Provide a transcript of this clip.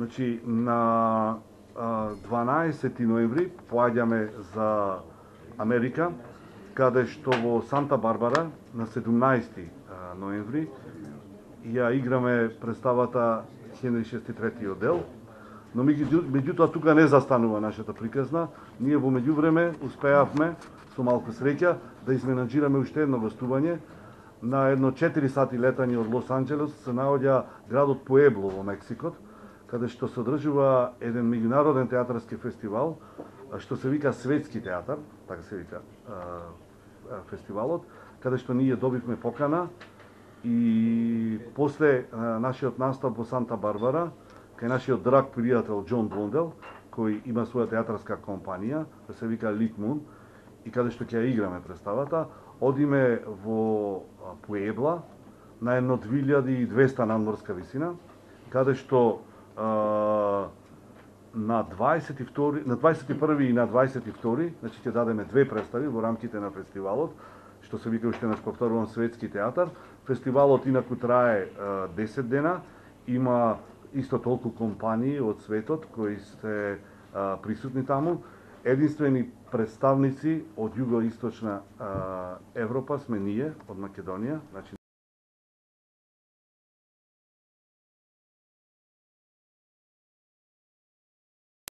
Значи, на 12 ноември поаѓаме за Америка, каде што во Санта Барбара на 17 ноември ја играме представата Хенри VI одел, но меѓутоа тука не застанува нашата приказна. Ние во меѓувреме успеавме со малку среќа да изменаџираме уште едно гостување. На едно 4 сати летање од Лос Анџелес се наоѓа градот Пуебло во Мексикот, каде што се одржува еден меѓународен театарски фестивал, што се вика Светски театар, така се вика фестивалот, каде што ние добивме покана и после нашиот настап во Санта Барбара, кај нашиот драг пријател Џон Блондел, кој има своја театарска компанија, да се вика Лит Мун, и каде што ќе ја играме представата, одиме во Пуебла на едно 2200 надморска висина, каде што на 21 и на 22, значи ќе дадеме две представи во рамките на фестивалот, што се вика уште повторувам Светски театар. Фестивалот инаку трае 10 дена, има исто толку компании од светот кои се присутни таму. Единствени представници од југоисточна Европа сме ние, од Македонија, значи